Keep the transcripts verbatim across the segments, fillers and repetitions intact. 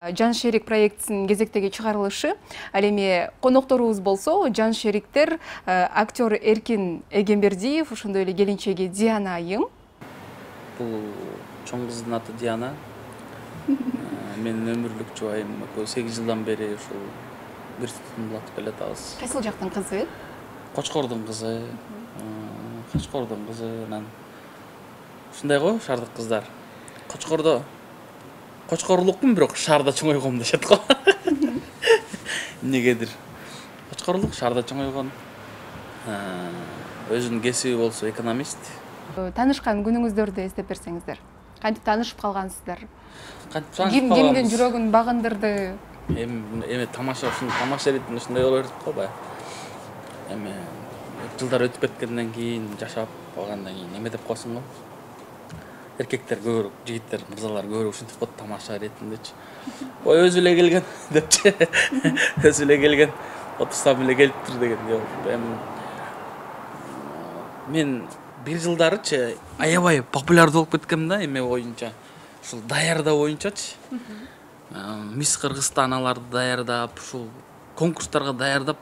Жан Шерик проектисinin кезектеги чыгарылышы. Ал эми конокторубуз болсо, Жан Шериктер актер Эркин Эгембердиев, ошондой эле келинчеги Диана Айым. Бул чоң кыздын аты Диана. Менин өмүрлүк жубайым сегиз жылдан бери ушул бир тутумду улатып келатабыз. Кайсыл жактын кызы? Кочкордун кызы. Кочкордун кызы. Анан ушундай го шаардык кыздар. Кочкордо Кочкорлукмун, бирок шаарда чоңойгом дешет го. Эмнегедир. Кочкорлук шаарда чоңойгон. Өзүнүн кесиби болсо экономист. Таанышкан күнүңүздөрдү эстеп берсеңиздер. Кантип таанышып калгансыздар? Кантип таанышып калганбыз? Кимдин жүрөгүн багындырды? Эми эме тамаша ушун тамаша иретинде ушундай боло берип го баягы. Эми жылдар өтүп кеткенден кийин, жашап калгандан кийин эме деп коесуң го. Эркектер көбүрөөк, жигиттер, мырзалар көбүрөөк ушинтип коет тамаша иретиндечи. Ой, өзү эле келген депчи. Өзү эле келген, отурсам эле келиптир деген. Эми мен бир жылдарычы аябай популярдуу болуп кеткем да, эме боюнча. Ушул даярдоо боюнчачы. Мисс Кыргызстаналарды даярдап, ушул конкурстарга даярдап,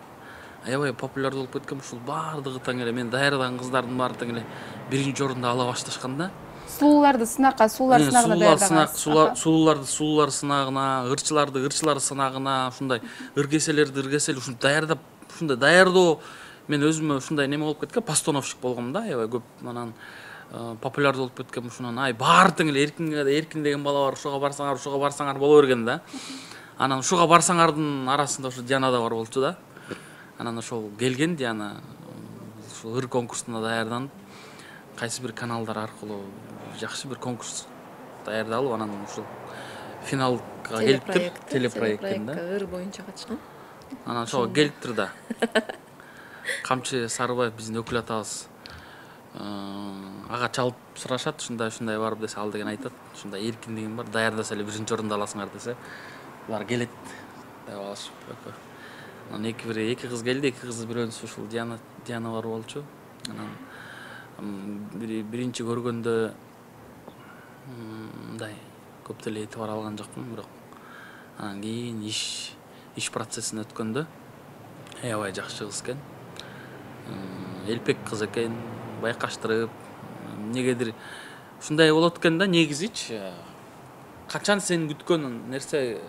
аябай популярдуу болуп кеткем. Ушул баардыгы тең эле мен даярдаган кыздардын баары тең эле биринчи орунду ала башташканда. Сулууларды сынакка, суулар сынагына даярдагансыз. Сулууларды суулар сынагына, ырчыларды ырчылар сынагына, ушундай ыргеселерди ыргесел ушинтип даярдап, ушундай даярдоо мен өзүмө ушундай неме болуп кеткен, постановщик болгом да, аябай көп. Анан популярдуу болуп кеткем, ушунан ай баары тең эле эркинге, эркин деген бала бар, ушуга барсаңар, ушуга барсаңар боло берген да. Анан ушуга барсаңардын арасында ушу Диана да бар болчу да. Анан ошол келген Диана ушул ыр конкурсуна даярданып, кайсы бир каналдар аркылуу жакшы бир конкурс даярдалып, анан ушул финалга келиптир, телепроекттен да. Ыр боюнча катышкан. Анан ошого келиптир да. Камчы Сарыбаев биздин өкүл атабыз. Ага чалып сурашат, ушундай ушундай барып десе, ал деген айтат, ушундай эркин деген бар, даярдаса эле биринчи орунду аласыңар десе, булар келет деп алышып. Анан эки бир эки кыз келди, эки кыз бирөөсү ушул Диана Диана бар болчу. Анан биринчи көргөндө мындай көп деле этибар алган жокмун, бирок анан кийин иш иш процессин өткөндө аябай жакшы кыз экен. Элпек кыз экен, байкаштырып, эмнегедир ушундай болот экен да, негизичи. Качан сен күткөн нерсе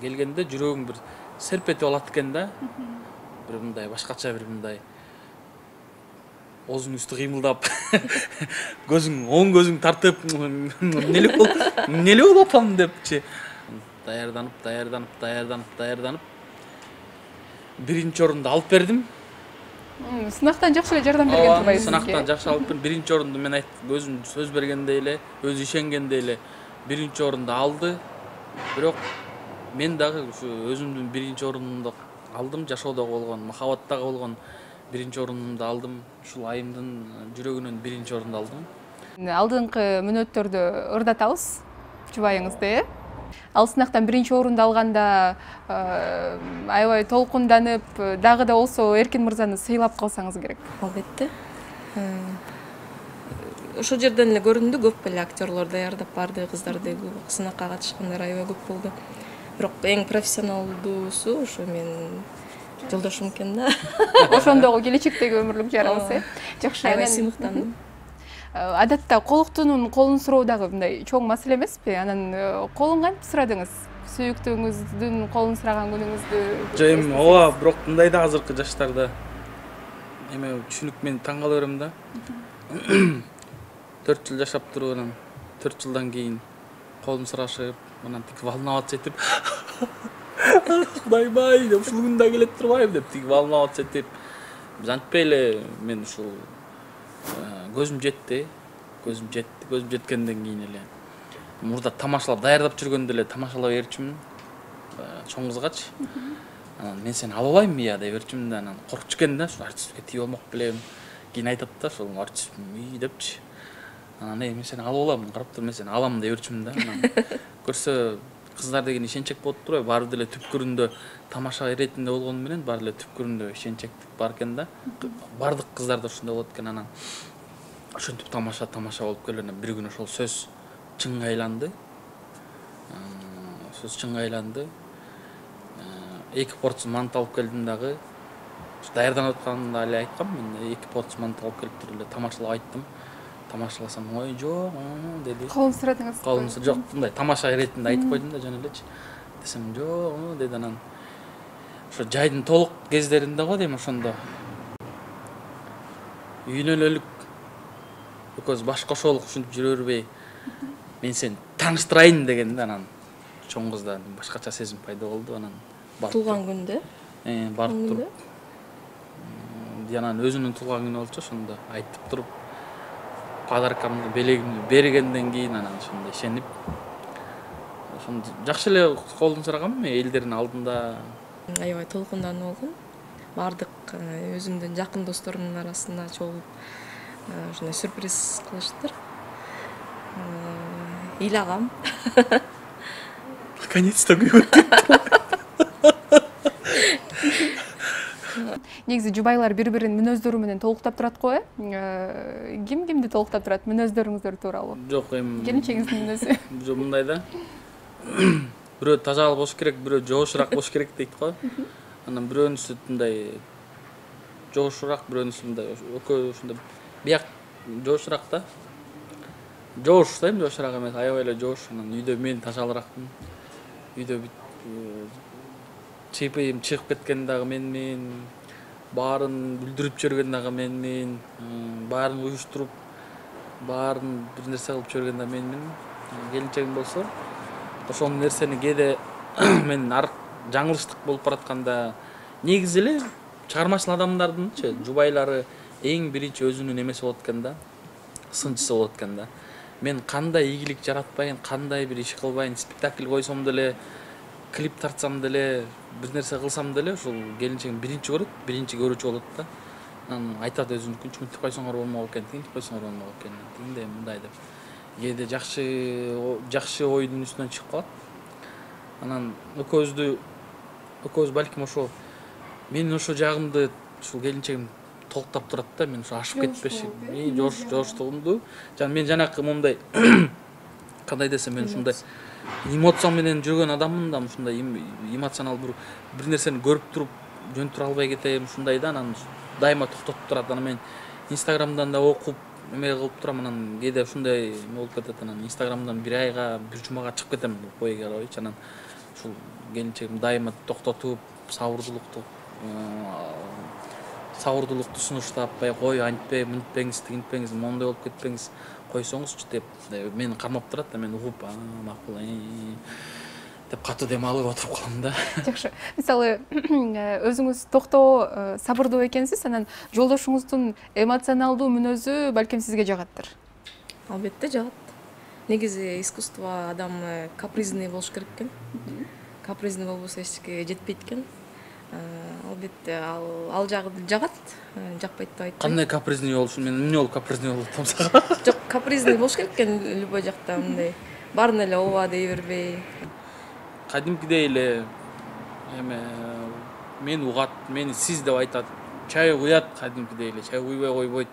келгенде жүрөгүң бир серп этип алат экен да. Бир мындай башкача бир мындай оозуң үстү кыймылдап, көзүң, оң көзүң тартып, эмнеле болуп, эмнеле болуп атам депчи. Даярданып, даярданып, даярданып, даярданып биринчи орунду алып бердим. Сынактан жакшы эле жардам берген турбайбы сизге? Сынактан жакшы алып бердим. Биринчи орунду мен айттым, өзүм сөз бергендей эле, өзү ишенгендей эле биринчи орунду алды. Бирок мен дагы ушу өзүмдүн биринчи орунумду алдым, жашоодогу болгон, махабаттагы болгон биринчи орунумду алдым. Ушул айымдын жүрөгүнөн биринчи орунду алдым. Алдыңкы мүнөттөрдө ырдатабыз жубайыңызды, э? Ал сынактан биринчи орунду алганда аябай толкунданып, дагы да болсо Эркин мырзаны сыйлап калсаңыз керек. Албетте. Ошол жерден эле көрүндү, көп эле актерлор даярдап барды, кыздарды сынакка катышкандар аябай көп болду. Бирок эң профессионалдуусу ошо мен жолдошум экен да. Ошондогу келечектеги өмүрлүк жарыңыз, э? Жакшы. Аябай сыймыктандым. Адатта колуктуунун колун суроо дагы мындай чоң маселе эмеспи? Анан колун кантип сурадыңыз? Сүйүктүүңүздүн колун сураган күнүңүздү? Жок, эми ооба, бирок мындай да азыркы жаштарда эме түшүнүк мен таң кала берем да. төрт жыл жашап туруп, анан төрт жылдан кийин колун сурашып, анан тиги волноваться этип, Кудайбай деп ушул күн да келет турбайбы деп тиги волноваться этип. Биз антпей эле мен ушул көзүм жетти, көзүм жетти, көзүм жеткенден кийин эле мурда тамашалап даярдап жүргөндө эле тамашалап берчүмүн чоң кызгачы. Анан мен сени ала алайынмы я деп берчүмүн да, анан коркчу экен да, ушул артистке тие болмок белем. Кийин айтат да, ошол артист үй депчи. Анан мен сени алып алам, карап тур, мен сени алам деп берчүмүн да. Анан көрсө кыздар деген ишенчек болот турбайбы? Баары деле түпкүрүндө тамаша иретинде болгону менен баары эле түпкүрүндө ишенчектик бар экен да. Бардык кыздарда ушундай болот экен. Анан ошентип тамаша тамаша болуп келген. Бир күнү ошол сөз чынга айланды. сөз чынга айланды. Эки порция манты алып келдим дагы. Даярданып атканда эле айткам, мен эки порция манты алып келиптир эле тамашалап айттым. Тамашаласам, ой жок деди. Колун сурадыңыз? Колун жок, мындай тамаша иретинде айтып койдум да жөн элечи. Десем, жок деди. Анан ошо жайдын толук кездеринде го дейм, ошондо үйнөлөлүк экөөбүз баш кошолук ушинтип жүрө бербей, мен сени тааныштырайын дегенде анан чоң кызда башкача сезим пайда болду. Анан туулган күндө э барып туруп, анан өзүнүн туулган күнү болчу, ошондо айтып туруп подаркамды, белегимди бергенден кийин анан ошондо ишенип, ошондо жакшы эле колун сурагам, элдердин алдында аябай толкундануу болгон. Бардык өзүмдүн жакын досторумдун арасына чогулуп ушундай сюрприз кылыштыр. Ыйлагам. Наконец-то күйөт. Негизи жубайлар бири-бирин мүнөздөрү менен толуктап турат го, э? Ким кимди толуктап турат мүнөздөрүңүздөр тууралуу? Жок, эми келинчегиңиздин мүнөзү. Жок, мындай да. Бирөө тазалык болуш керек, бирөө жошураак болуш керек дейт го. Анан бирөөнүсү мындай жошураак, бирөөнүсү мындай экөө ушундай бияк жошураак да. Жош да, эми жошураак эмес, аябай эле жош. Анан үйдө мен тазалыраакмын. Үйдө чыйпыйым чыгып кеткен дагы менмин, баарын бүлдүрүп жүргөн дагы менмин, баарын уюштуруп, баарын бир нерсе кылып жүргөн дагы менмин. Келинчегим болсо, ошол нерсени кээде мен жаңылыштык болуп баратканда, негизи эле чыгармачыл адамдардынчы жубайлары эң биринчи өзүнүн эмеси болот экен да, сынчысы болот экен да. Мен кандай ийгилик жаратпайын, кандай бир иш кылбайын, спектакль койсом деле, клип тартсам деле, бир нерсе кылсам деле, ушул келинчегим биринчи көрөт, биринчи көрүүчү болот да. Анан айтат өзүнүн мынтип койсоңор болмок экен, тигинтип койсоңор болмок экен, тигиндей мындай деп. Кээде жакшы жакшы ойдун үстүнөн чыгып калат. Анан экөөбүздү экөөбүз балким ошо менин ошо жагымды ушул келинчегим толуктап турат да, мен ошо ашып кетпеши, мен жош жоштугумду, жана мен жанакы момундай кандай десем, мен ушундай эмоция менен жүргөн адаммын да, ушундай эмоционал бир бир нерсени көрүп туруп жөнтүрө албай кетем, ушундай да. Анан дайыма токтотуп турат. Анан мен Инстаграмдан да окуп эме кылып турам, анан кээде ушундай болуп кетет. Анан Инстаграмдан бир айга, бир жумага чыгып кетем, кой карабайчы. Анан ушул келинчегим дайыма токтотуп, сабырдуулукту сабырдуулукту сунуштап, бай кой антпе, мынтпеңиз, тигинтпеңиз, моундай болуп кетпеңиз, койсоңузчу деп мени кармап турат да. Мен угуп, макул деп катуу дем алып отуруп калам да. Жакшы. Мисалы, өзүңүз токтоо, сабырдуу экенсиз, анан жолдошуңуздун эмоционалдуу мүнөзү балким сизге жагаттыр. Албетте жагат. Негизи искусство адам капризный болуш керек экен. Капризный болбосо эчке жетпейт экен. Албетте ал ал жагат, жакпайт деп айтпайм. Кандай капризный болушун, мен эмне болуп капризный болуп атам сага? Жок, капризный болуш керек экен любой жакта, мындай баарын эле ооба дей бербей. Кадимкидей эле эме мен угат, мени сиз деп айтат, чай куят, кадимкидей эле чай куйбай койбойт.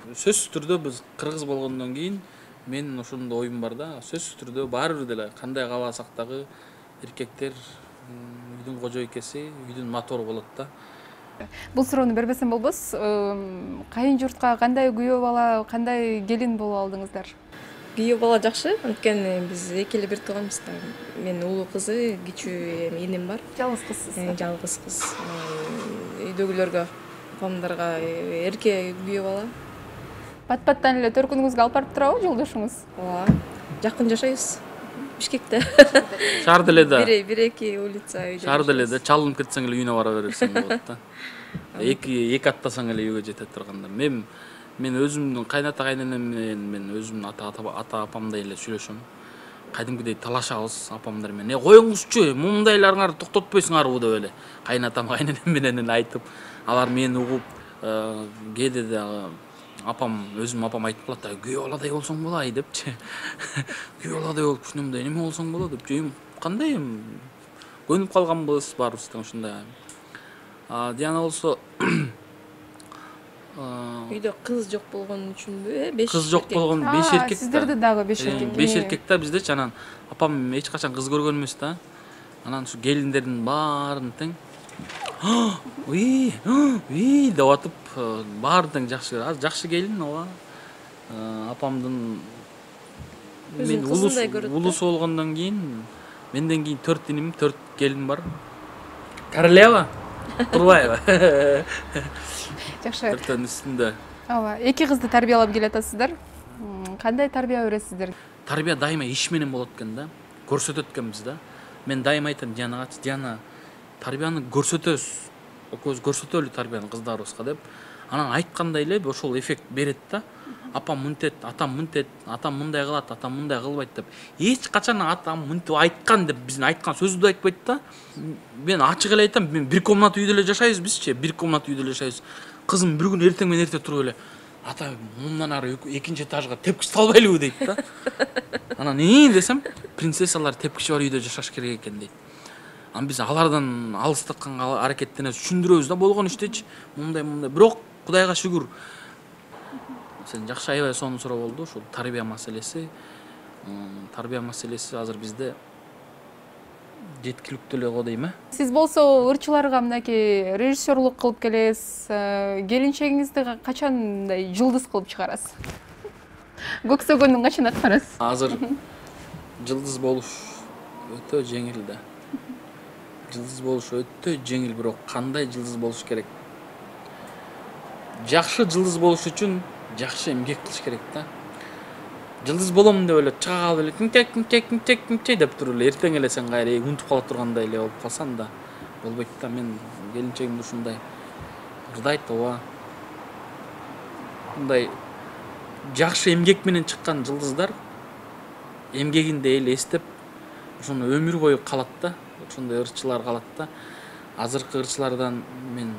Сөзсүз түрдө биз кыргыз болгондон кийин менин ошондой оюм бар да, сөзсүз түрдө баары бир деле кандай кааласак дагы эркектер үйдүн кожойкеси, үйдүн мотору болот да. Бул суроону бербесем болбос. Кайын журтка кандай күйөө бала, кандай келин болуп алдыңыздар? Күйөө бала жакшы, анткени биз эки эле бир тууганбыз да. Мен улуу кызы, кичүү иним бар. Жалгыз кызсыз. Жалгыз кыз. Үйдөгүлөргө, апамдарга эрке күйөө бала. Пат-паттан эле төркүнүңүзгө алып барып турабы жолдошуңуз? Ооба. Жакын жашайбыз. Бишкекте. Шаарда эле да. Бир бир эки улица үйдө. Шаарда эле да, чалынып кетсең эле үйүнө бара бересиң болот да. Эки эки аттасаң эле үйгө жете турганда. Мен мен өзүмдүн кайната кайненем менен мен өзүмдүн ата ата апамдай эле сүйлөшөм. Кадимкидей талашабыз апамдар менен. Э коюңузчу, мундайларыңарды токтотпойсуңарбы деп эле кайнатам кайненем менен эле айтып, алар мени угуп, кээде да апам өзүм апам айтып калат, күйөө баладай болсоң болой депчи. Күйөө баладай болуп ушундай неме болсоң болот деп. Жөйүм кандай эми көнүп калганбыз баарыбыз тең ушундай. А Диана болсо үйдө кыз жок болгон үчүнбү, э, беш кыз жок болгон беш эркек. Сиздерде дагы беш эркек. беш эркек да биздечи. Анан апам эч качан кыз көргөн эмес да. Анан ушу келиндердин баарын тең уй уй деп атып баарын тең жакшы көрөт. Азыр жакшы келин ооба. Апамдын мен улус болгондон кийин менден кийин төрт иним, төрт келин бар. Королева Турбаева. Жакшы. Төртөн үстүндө. Ооба, эки кызды тарбиялап келатасыздар. Кандай тарбия бересиздер? Тарбия дайыма иш менен болот экен да. Көрсөтөт экенбиз да. Мен дайыма айтам Дианага, Диана, тарбияны көрсөтөбүз. Экөөбүз көрсөтөлү тарбияны кыздарыбызга деп. Анан айткандай эле ошол эффект берет да. Апам мынтет, атам мынтет, атам мындай кылат, атам мындай кылбайт деп. Эч качан атам мынтип айткан деп биздин айткан сөздү да айтпайт да. Мен ачык эле айтам, мен бир комната үйдө эле жашайбыз бизчи, бир комната үйдө эле жашайбыз. Кызым бир күн эртең менен эрте туруп эле ата мындан ары экинчи этажга тепкич салбайлыбы дейт да. Анан ии десем, принцессалар тепкичи бар үйдө жашаш керек экен дейт. Анан биз алардан алыстатканга аракеттенебиз, түшүндүрөбүз да болгон иштечи. Мындай мындай. Бирок Кудайга шүгүр. Сен жакшы аябай сонун суроо болду. Ушул тарбия маселеси, тарбия маселеси азыр бизде жеткиликтүү эле го дейм э. Сиз болсо ырчыларга мынакей режиссерлук кылып келесиз. Келинчегиңизди качан мындай жылдыз кылып чыгарасыз? Көксөгөндүн качан аткарасыз? Азыр жылдыз болуш өтө жеңил да. Жылдыз болуш өтө жеңил, бирок кандай жылдыз болуш керек? Жакшы жылдыз болуш үчүн жакшы эмгек кылыш керек да. Жылдыз болом деп эле чыга калып эле тинтек тинтек тинтек тинтек деп туруп эле эртең эле сен кайра унутуп кала тургандай эле болуп калсаң да болбойт да. Мен келинчегимди ушундай ырдайт ооба. Мындай жакшы эмгек менен чыккан жылдыздар эмгегинде эл эстеп ошону өмүр бою калат да. Ошондой ырчылар калат да. Азыркы ырчылардан мен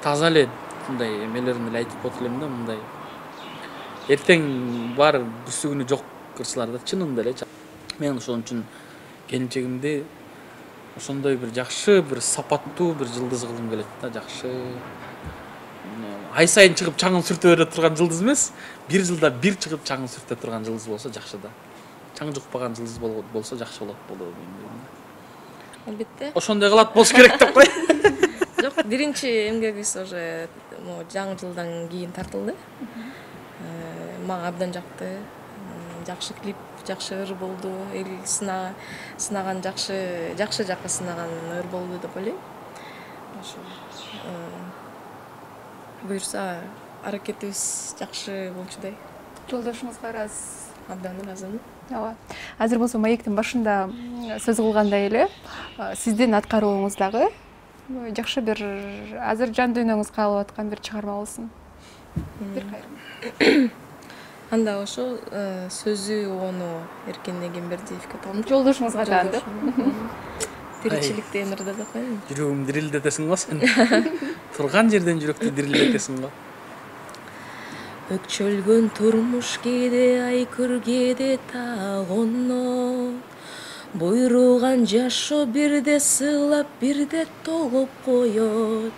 таза эле мындай эмелерин эле айтып коет элем да, мындай эртең бар бүсүгүнү жок ырчылар да, чынында эле. Мен ошон үчүн келинчегимди ошондой бир жакшы, бир сапаттуу бир жылдыз кылгым келет да. Жакшы ай сайын чыгып чаңын сүртө бере турган жылдыз эмес, бир жылда бир чыгып чаңын сүртө турган жылдыз болсо жакшы да. Чаң жукпаган жылдыз болсо жакшы болот болобу дейм. Албетте. Ошондой кылат болуш керек деп кой. Жок, биринчи эмгегибиз уже жаңы жылдан кийин тартылды. Мага абдан жакты. Жакшы клип, жакшы ыр болду. Эл сынаган жакшы, жакшы жакка сынаган ыр болду деп ойлойм. Ошо буюрса аракетибиз жакшы болчудай. Жолдошуңузга ыраазысыз? Абдан ыраазымын. Ооба. Азыр болсо маектин башында сөз кылгандай эле, сиздин аткарууңуз дагы жакшы бир азыр жан дүйнөңүз каалап аткан бир чыгарма болсун. Бир кайрым. Анда ошо сөзү ону Эркен Эгембердиевге тууган. Жолдошуңузга таанды. Тиричиликте эмирде деп коеюн. Жүрөгүм дирилдетесиң го сен. Турган жерден жүрөктү дирилдетесиң го. Өкчөлгөн турмуш кээде айкөр кээде тагоно. Буйруган жашоо бирде сыйлап бирде толуп коет.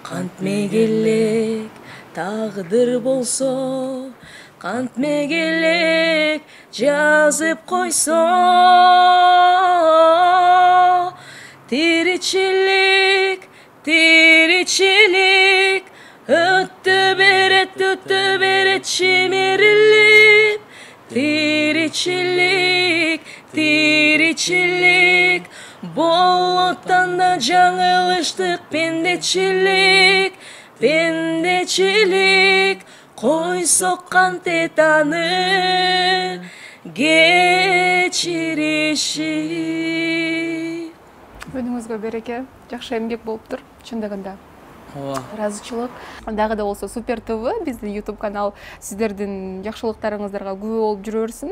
Кантме келек тагдыр болсо, кантме келек жазып койсо. Тиричилик, тиричилик өттү берет, өттү берет чимирилип. Тиричилик, тиричилик болоттан да жаңылыштык. Пендечилик, пендечилик койсок кантет аны кечириши. Өнүңүзгө береке, жакшы эмгек болуптур чындыгында. Ооба. Ыраазычылык. Дагы да болсо Супер ТВ биздин YouTube канал сиздердин жакшылыктарыңыздарга күбө болуп жүрө берсин.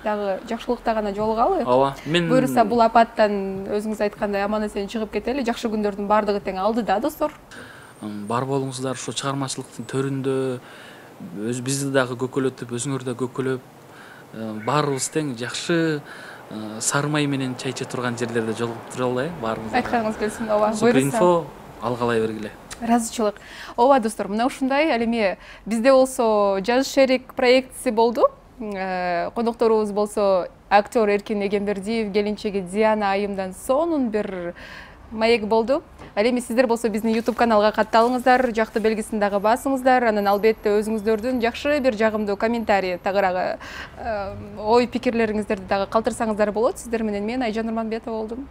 Дагы жакшылыкта гана жолугалы. Ооба. Мен буюрса бул апаттан өзүңүз айткандай аман-эсен чыгып кетели. Жакшы күндөрдүн бардыгы тең алдыда, достор. Бар болуңуздар ошо чыгармачылыктын төрүндө. Өз бизди дагы көкөлөтүп, өзүңөр да көкөлөп, баарыбыз тең жакшы сары май менен чай иче турган жерлерде жолугуп туралы э, баарыбыз. Айтканыңыз келсин, ооба. Суперинфо алгалай бергиле. Ыраазычылык. Ооба достор, мына ушундай. Ал эми бизде болсо жаз шерик проектиси болду. Конокторубуз болсо актер Эркин Эгембердиев, келинчеги Диана Айымдан сонун бир маек болду. Ал эми сиздер болсо биздин YouTube каналга катталыңыздар, жакты белгисин дагы басыңыздар. Анан албетте өзүңүздөрдүн жакшы бир жагымдуу комментарий, тагыраагы ой пикирлериңиздерди дагы калтырсаңыздар болот. Сиздер менен мен Айжан Нурманбетова болдум.